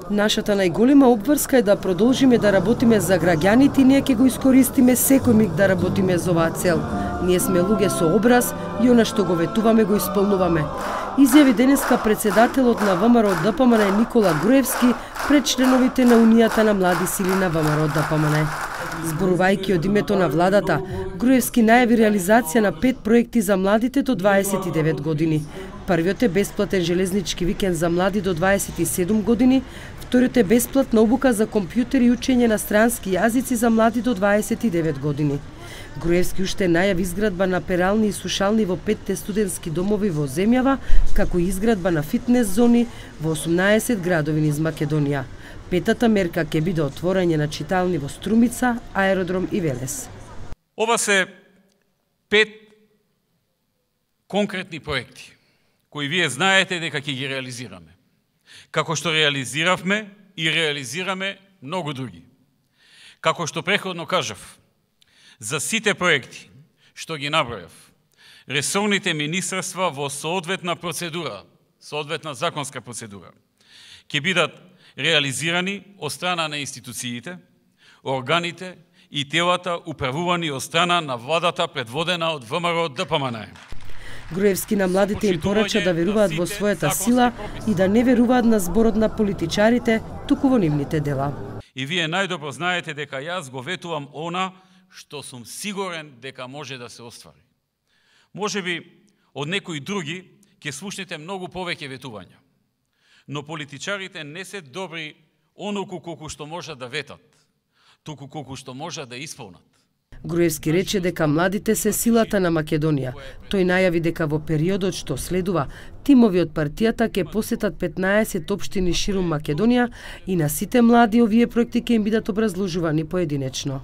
Нашата најголема обврска е да продолжиме да работиме за граѓаните и ние ќе го искористиме секој миг да работиме за оваа цел. Ние сме луѓе со образ и она што го ветуваме го исполнуваме. Изјави денеска председателот на ВМРО-ДПМН Никола Груевски пред членовите на Унијата на млади сили на ВМРО-ДПМН. Зборувајќи од името на владата, Груевски најави реализација на 5 проекти за младите до 29 години. Првиот е бесплатен железнички викенд за млади до 27 години, вториот е бесплатна обука за компјутери и учење на странски јазици за млади до 29 години. Груевски уште најави изградба на перални и сушални во 5 студентски домови во земјава, како и изградба на фитнес зони во 18 градови низ Македонија. Петата мерка ќе биде отворање на читални во Струмица, Аеродром и Велес. Ова се 5 конкретни проекти кои вие знаете дека ќе ги реализираме. Како што реализиравме и реализираме многу други. Како што претходно кажав, за сите проекти што ги набројав, ресорните министерства во соодветна процедура, соодветна законска процедура, ќе бидат реализирани од страна на институциите, органите и телата управувани од страна на владата предводена од ВМРО-ДПМН. Груевски на младите им порача да веруваат во својата сила и да не веруваат на зборот на политичарите, туку во нивните дела. И вие најдобро знаете дека јас го ветувам она што сум сигурен дека може да се оствари. Можеби од некои други ќе слушнете многу повеќе ветувања. Но политичарите не се добри онолку колку што можат да ветат, туку колку што можат да исполнат. Груевски рече дека младите се силата на Македонија. Тој најави дека во периодот што следува, тимови од партијата ќе посетат 15 општини ширум Македонија и на сите млади овие проекти ќе им бидат образложувани поединечно.